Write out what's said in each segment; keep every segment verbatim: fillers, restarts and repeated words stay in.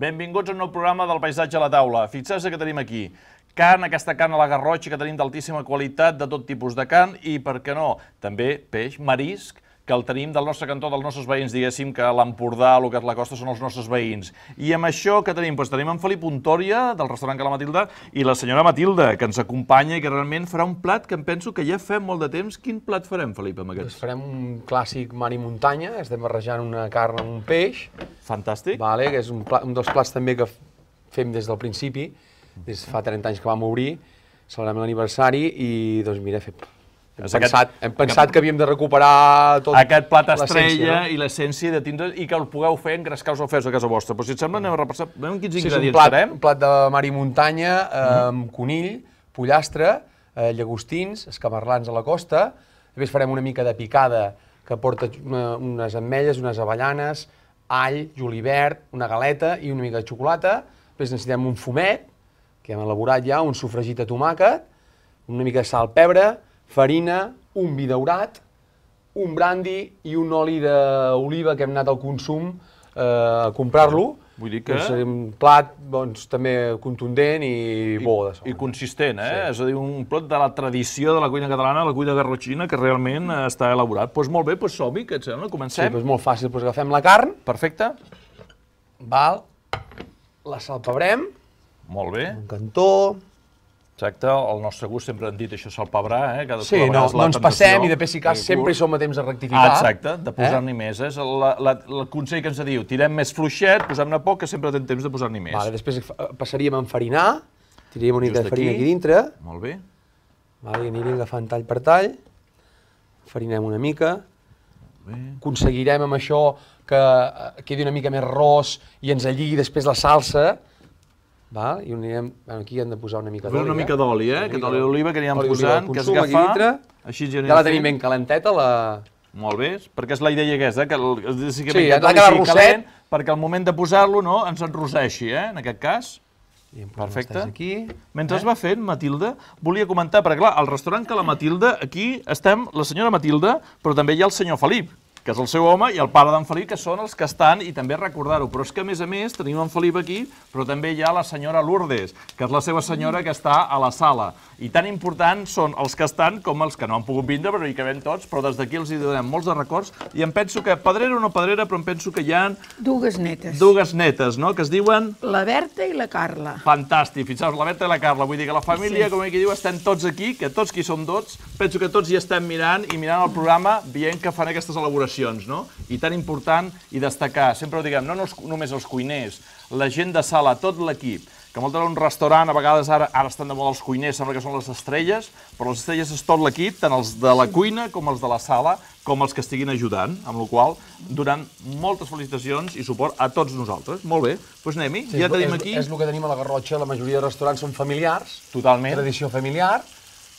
Benvinguts a un nou programa del Paisatge a la Taula. Fixeu-vos que tenim aquí carn, aquesta carn a la garrotxa que tenim d'altíssima qualitat, de tot tipus de carn i, per què no, també peix, marisc, que el tenim del nostre cantó, dels nostres veïns, diguéssim, que l'Empordà, el que és la costa, són els nostres veïns. I amb això que tenim? Doncs tenim en Felip Untòria, del restaurant Ca la Matilda, i la senyora Matilda, que ens acompanya i que realment farà un plat que em penso que ja fem molt de temps. Quin plat farem, Felip, amb aquests? Farem un clàssic mar i muntanya, estem barrejant una carn amb un peix. Fantàstic. Vale, que és un, pla, un dels plats també que fem des del principi, des de fa trenta anys que vam obrir, celebrem l'aniversari i, doncs mira, hem, hem, aquest, pensat, hem pensat que havíem de recuperar tot aquest plat estrella, no? I l'essència de tindre i que el pugueu fer en grescar els ofers a casa vostra. Però si et sembla, anem a repassar, veiem quins sí, ingredients un plat, farem. Un plat de mar i muntanya, eh, amb conill, pollastre, eh, llagostins, escamarlans a la costa. Després farem una mica de picada que porta una, unes ametlles, unes avellanes, all, julivert, una galeta i una mica de xocolata. Després necessitem un fumet, que hem elaborat ja, un sofregit de tomàquet, una mica de sal, pebre, farina, un vi daurat, un brandi i un oli d'oliva que hem anat al consum eh, a comprar-lo. Vull dir que... És un plat doncs, també contundent i, i bo de sol. I consistent, eh? Sí. És a dir, un plat de la tradició de la cuina catalana, la cuina garrotxina, que realment està elaborat. Doncs molt bé, doncs som-hi, què et sembla? Comencem? Sí, doncs molt fàcil. Doncs agafem la carn. Perfecte. Val. La salpebrem. Molt bé. Un cantó. Exacte, al nostre gust sempre han dit això salpebrar, eh? Cadascú Sí, no, no ens passem i després si cas sempre hi som a temps de rectificar. Ah, exacte, de posar-n'hi eh? més. És la, la, el consell que ens diu, tirem més fluixet, posem-ne poc, que sempre tenim temps de posar-n'hi més. Vale, després passaríem a enfarinar, tiraríem una mica de farina aquí. aquí dintre. Molt bé. Vale, anirem agafant tall per tall. Farinem una mica. Bé. Aconseguirem amb això que quedi una mica més ros i ens alligui després la salsa. Val? I anirem, aquí hem de posar una mica d'oli. Una mica d'oli, eh? Aquest oli d'oliva que anirem posant, que es agafa. agafa. Així ja la tenim ben calenteta, la... Molt bé, perquè és la idea aquesta, que el, que sí, ha de quedar rosset. Perquè al moment de posar-lo, no, ens enroseixi, eh? En aquest cas. Perfecte. Aquí. Mentre es va fent, Matilda, volia comentar, perquè clar, al restaurant Ca la Matilda, aquí estem la senyora Matilda, però també hi ha el senyor Felip, que és el seu home, i el pare d'en Felip, que són els que estan, i també recordar-ho. Però és que, a més a més, tenim en Felip aquí, però també hi ha la senyora Lourdes, que és la seva senyora que està a la sala. I tan importants són els que estan com els que no han pogut vindre, però hi cabem tots, però des d'aquí els hi donem molts de records. I em penso que, pedrera o no pedrera, però em penso que hi ha... Dues netes. Dues netes, no?, que es diuen... La Berta i la Carla. Fantàstic, fixeu-vos, la Berta i la Carla. Vull dir que la família, sí. Com aquí diu, estem tots aquí, que tots qui som tots, penso que tots hi estem mirant i mirant el programa, veient que fan aquestes elaboracions, no? I tan important i destacar, sempre ho diguem, no només els cuiners, la gent de sala, tot l'equip, que moltes vegades un restaurant, a vegades ara, ara estan de moda els cuiners, sembla que són les estrelles, però les estrelles és tot l'equip, tant els de la cuina com els de la sala, com els que estiguin ajudant, amb la qual cosa donant moltes felicitacions i suport a tots nosaltres. Molt bé, doncs anem-hi, ja tenim aquí... És el que tenim a la Garrotxa, la majoria de restaurants són familiars. Totalment. Tradició familiar.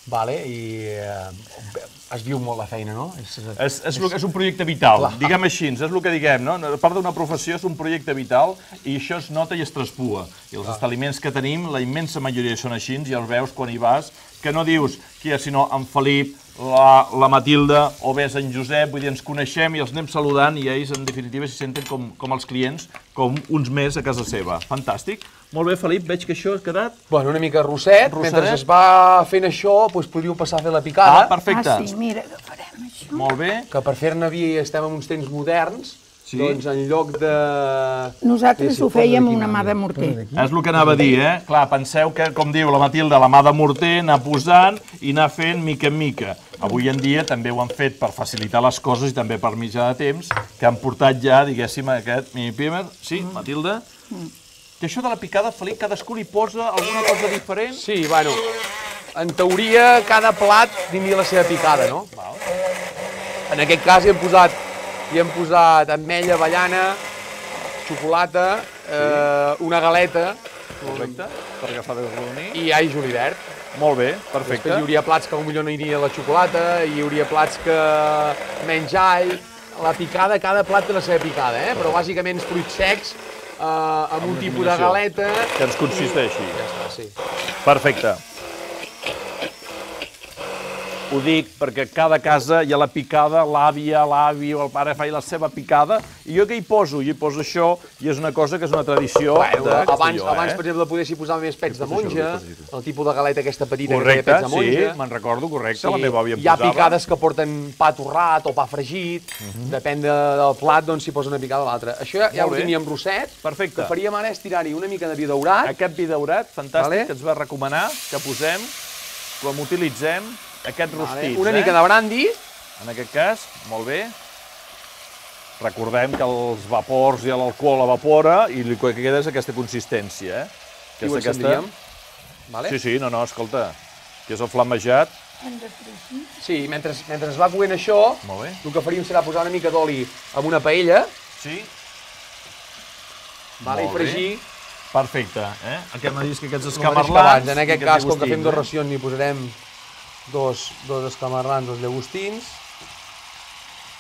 Vale, i eh, es viu molt la feina, no? És, és, és, és un projecte vital, clar. Diguem així, és el que diguem, no? A part d'una professió, és un projecte vital i això es nota i es traspua. I els establiments que tenim, la immensa majoria són així, ja els veus quan hi vas, que no dius qui és, sinó en Felip, la, la Matilda o bé en Josep, vull dir, ens coneixem i els anem saludant i ells, en definitiva, s'hi senten com, com els clients, com uns més a casa seva. Fantàstic. Molt bé, Felip, veig que això ha quedat... Bueno, una mica rosset. Rossedet. Mentre es va fent això, doncs podríeu passar a fer la picada. Ah, perfecte. Ah, sí, mira, agafarem això. Molt bé. Que per fer-ne vi estem en uns temps moderns, sí. Doncs en lloc de... Nosaltres ho fèiem amb una mà de morter. És el que anava a dir, eh? Clar, penseu que, com diu la Matilda, la mà de morter, anar posant i anar fent mica en mica. Avui en dia també ho han fet per facilitar les coses i també per mitjà de temps, que han portat ja, diguéssim, aquest mini-primer. Sí, Matilda? Que això de la picada, Felip, cadascú li posa alguna cosa diferent? Sí, bueno, en teoria cada plat tindria la seva picada, no? Val. En aquest cas hi hem posat, hi hem posat ametlla, avellana, xocolata, sí. eh, una galeta. Correcte, per agafar de rodonir. I all julivert. Molt bé, perfecte. Després hi hauria plats que potser no aniria la xocolata, hi hauria plats que menys all. La picada, cada plat té la seva picada, eh? Però bàsicament els fruits secs, eh, amb, amb un tipus de galeta... Que ens consisteixi. Ja està, sí. Perfecte. ho dic perquè cada casa hi ha la picada, l'àvia, l'avi o el pare fa la seva picada, i jo què hi poso? Jo hi poso això, i és una cosa que és una tradició de Castelló. Abans, abans, per exemple, poder s'hi posar més pets de monja, el tipus de galeta aquesta petita que té Correcte, pets de monja. sí, me'n recordo, correcte, la meva àvia em Hi ha posava. picades que porten pa torrat o pa fregit, depèn de- del plat, doncs s'hi posa una picada o l'altra. Això ja, ja ho Molt bé. teníem rosset. Perfecte. El que faríem ara és tirar-hi una mica de vi daurat. Aquest vi daurat, fantàstic, Vale. que ens va recomanar, que posem, com utilitzem, aquests rostits, Una eh? mica de brandy. En aquest cas, molt bé. Recordem que els vapors i l'alcohol evapora i el que queda és aquesta consistència, eh? I ho encendríem. Vale? Sí, sí, no, no, escolta, que és el flamejat. Sí, mentre, mentre es va coent això, Molt bé. el que faríem serà posar una mica d'oli en una paella, Sí. vale, i Molt bé. fregir Perfecte, eh? Aquest m'ha dit que aquests el mateix que escamarlans... abans. En aquest aquests cas, com que llagostins, fem dos eh? racions, n'hi posarem dos, dos escamarlans, dos llagostins.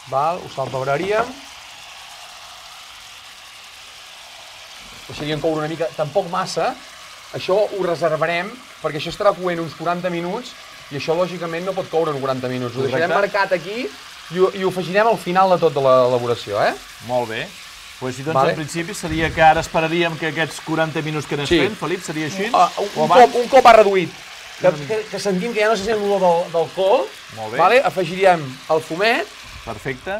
Val, ho salpebraríem. Deixaríem coure una mica, tampoc massa. Això ho reservarem, perquè això estarà coent uns quaranta minuts i això, lògicament, no pot coure en quaranta minuts. Ho deixarem Correcte. marcat aquí i ho, i ho afegirem al final de tot de l'elaboració, eh? Molt bé. Pues, doncs, Vale. en principi seria que ara esperaríem que aquests quaranta minuts que anés Sí. fent, Felip, seria així? Uh, un, O un, abans? cop, un cop ha reduït, que, que, que sentim que ja no se sent l'olor del, del col, Molt bé. vale? Afegiríem el fumet. Perfecte,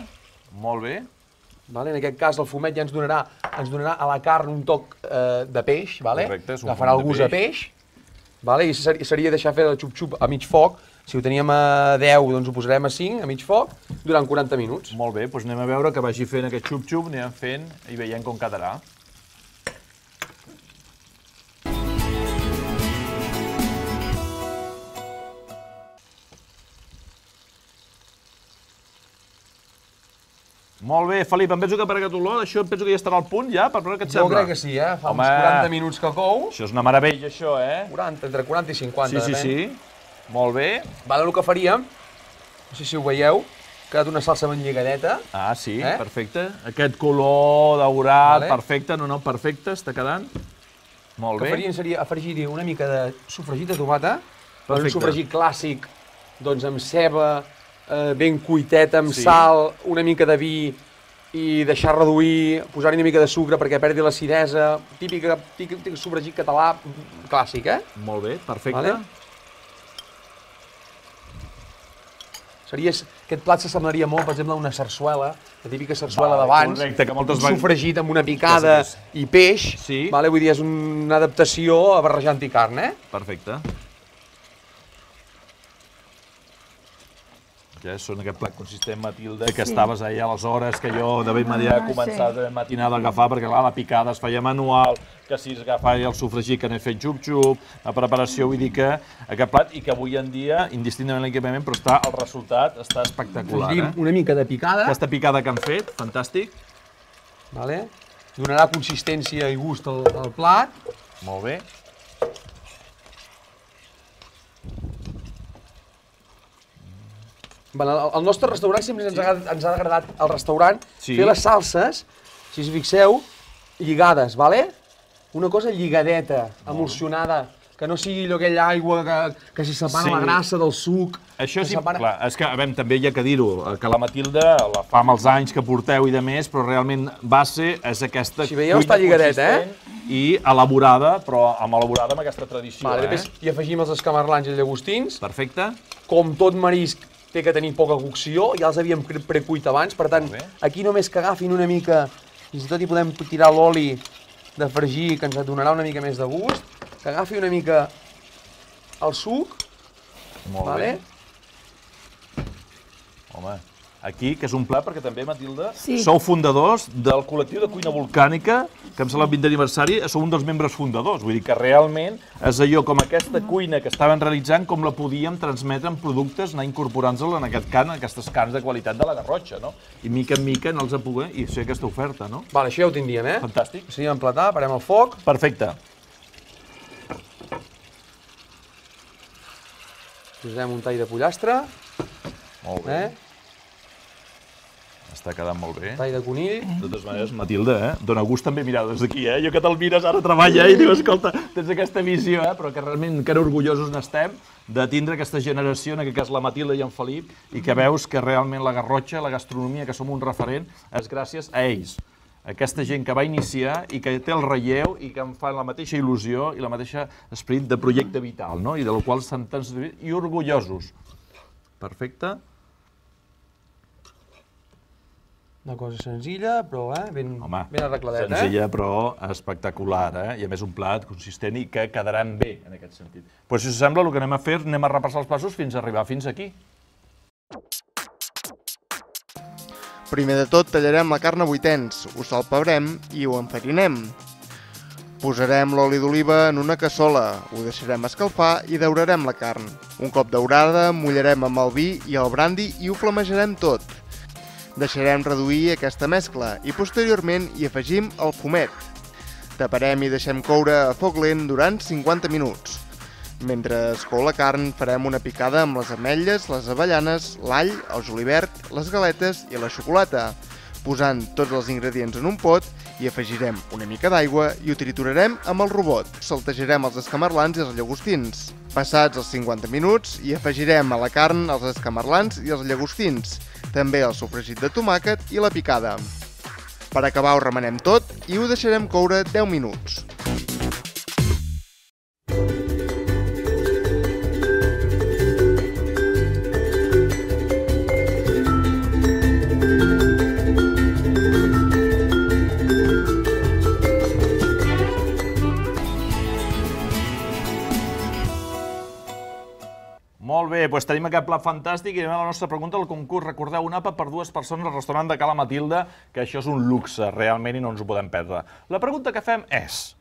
molt bé. Vale? En aquest cas el fumet ja ens donarà, ens donarà a la carn un toc eh, de peix, vale? Correcte, és un agafarà fumet el de gust de peix, vale? I seria, seria deixar fer el xup-xup a mig foc. Si ho teníem a deu, doncs ho posarem a cinc, a mig foc, durant quaranta minuts. Molt bé, doncs anem a veure que vagi fent aquest xup-xup, anem fent i veiem com quedarà. Molt bé, Felip, em penso que per aquest olor, això em penso que ja estarà al punt, ja, per veure què et Jo sembla. crec que sí, eh? Fa Home. uns quaranta minuts que cou. Això és una meravella, això, eh? quaranta, entre quaranta i cinquanta, Sí, sí, depèn. sí. Molt bé. Vale, el que faríem, no sé si ho veieu, ha quedat una salsa ben lligadeta. Ah, sí, Eh? perfecte. Aquest color daurat, Vale. perfecte, no, no, perfecte, està quedant. Molt El que bé. faríem seria afegir-hi una mica de sofregit de tomata, un Perfecte. sofregit clàssic, doncs amb ceba, eh, ben cuitet, amb Sí. sal, una mica de vi i deixar reduir, posar-hi una mica de sucre perquè perdi l'acidesa, típica, típic, típic sofregit català clàssic, eh? Molt bé, perfecte. Vale. Seria, aquest plat s'assemblaria molt, per exemple, a una sarsuela, la típica sarsuela Vale, d'abans, correcte, que moltes un vegades- sofregit amb una picada Sí, i peix, Sí. vale? Vull dir, és una adaptació a barrejant-hi carn, eh? Perfecte. Ja són aquest plat consistent, Matilde, que estaves ahir a les hores que jo de ben manera he Ah, començat sí. de matinada a agafar, perquè clar, la picada es feia manual, que si es agafava el sofregit que anem fent xup-xup, la preparació, vull dir que aquest plat, i que avui en dia, indistintament l'equipament, però està, el resultat està espectacular, Afegim eh? una mica de picada, Aquesta picada que han fet, fantàstic. vale? Donarà consistència i gust al, al plat. Molt bé. Vale, al al nostre restaurant sempre ens, ha, agradat- ens ha agradat al restaurant Sí. fer les salses, si us fixeu, lligades, vale? Una cosa lligadeta, emulsionada, que no sigui allò aquella aigua que, que s'hi separa Sí. la grassa del suc. Això que sí, separa- clar, és que, a veure, també hi ha que dir-ho, que la Matilda la fa amb els anys que porteu i de més, però realment base és aquesta Si veieu, cuina està lligadeta, eh? consistent i elaborada, però amb elaborada amb aquesta tradició, Vale, eh? després hi afegim els escamarlans i els llagostins. Perfecte. Com tot marisc té que tenir poca cocció, ja els havíem pre- precuit abans, per tant, Molt bé. aquí només que agafin una mica, fins i tot hi podem tirar l'oli de fregir, que ens donarà una mica més de gust, que agafi una mica el suc, Molt vale? bé. Home, aquí, que és un plat, perquè també, Matilda, Sí. sou fundadors del col·lectiu de cuina volcànica, que em sembla el vint d'aniversari, sou un dels membres fundadors. Vull dir que realment és allò com aquesta cuina que estaven realitzant, com la podíem transmetre en productes, anar incorporant-la en aquest can, en aquestes carns de qualitat de la Garrotxa, no? I mica en mica anar-los a poder i fer aquesta oferta, no? Vale, això ja ho tindríem, eh? Fantàstic. Seria emplatar, parem el foc, Perfecte. posarem un tall de pollastre, Molt bé. eh? Està quedant molt bé. Tall de conill. De totes maneres, Matilde, eh? Dóna gust també mirar des d'aquí, eh? Jo que te'l mires ara treballa i diu, escolta, tens aquesta visió, eh? Però que realment encara orgullosos n'estem de tindre aquesta generació, en aquest cas la Matilde i en Felip, i que veus que realment la Garrotxa, la gastronomia, que som un referent, és gràcies a ells. Aquesta gent que va iniciar i que té el relleu i que em fa la mateixa il·lusió i la mateixa esperit de projecte vital, no? I del qual estan tan i orgullosos. Perfecte. Una cosa senzilla, però eh, ben, Home, ben arregladeta. Senzilla, però espectacular, eh? I a més un plat consistent i que quedaran bé, en aquest sentit. Però si us sembla, el que anem a fer, anem a repassar els passos fins a arribar fins aquí. Primer de tot, tallarem la carn a vuitens, ho salpebrem i ho enfarinem. Posarem l'oli d'oliva en una cassola, ho deixarem escalfar i daurarem la carn. Un cop daurada, mullarem amb el vi i el brandi i ho flamejarem tot. Deixarem reduir aquesta mescla i posteriorment hi afegim el fumet. Taparem i deixem coure a foc lent durant cinquanta minuts. Mentre es cou la carn, farem una picada amb les ametlles, les avellanes, l'all, el julivert, les galetes i la xocolata, posant tots els ingredients en un pot i afegirem una mica d'aigua i ho triturarem amb el robot. Saltejarem els escamarlans i els llagostins. Passats els cinquanta minuts, hi afegirem a la carn els escamarlans i els llagostins, també el sofregit de tomàquet i la picada. Per acabar ho remenem tot i ho deixarem coure deu minuts. Molt bé, doncs tenim aquest plat fantàstic i anem a la nostra pregunta del concurs. Recordeu, un àpat per dues persones al restaurant de Cala Matilde, que això és un luxe, realment, i no ens ho podem perdre. La pregunta que fem és,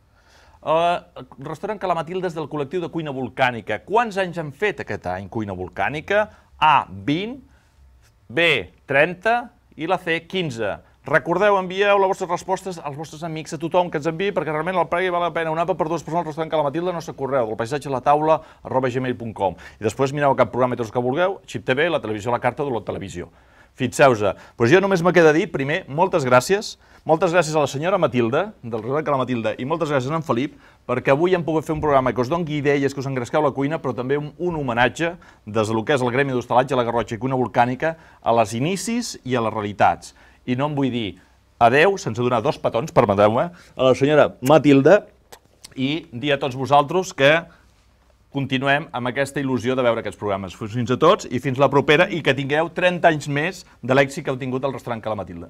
el restaurant Cala Matilde és del col·lectiu de cuina volcànica. Quants anys han fet aquest any cuina volcànica? A, vint, B, trenta i la C, quinze. Recordeu, envieu les vostres respostes als vostres amics, a tothom que ens enviï, perquè realment el premi val la pena. Un àpat per dues persones al restaurant Cala Matilde, el nostre correu, del paisatge a la taula, arroba gmail punt com. I després mireu cap programa i tots que vulgueu, Xip T V, la televisió a la carta o la televisió. Fixeu-vos. Doncs jo només me queda dir, primer, moltes gràcies. Moltes gràcies a la senyora Matilde, del restaurant Cala Matilde, i moltes gràcies a en Felip, perquè avui hem pogut fer un programa que us doni idees, que us engresqueu la cuina, però també un, un homenatge des del que és el Gremi d'Hostalatge, la Garrotxa i Cuina Volcànica, a les inicis i a les realitats. I no em vull dir adeu, sense donar dos petons, permeteu-me, a la senyora Matilde i dir a tots vosaltres que continuem amb aquesta il·lusió de veure aquests programes. Fins a tots i fins la propera i que tingueu trenta anys més de l'èxit que heu tingut al restaurant Cala Matilde.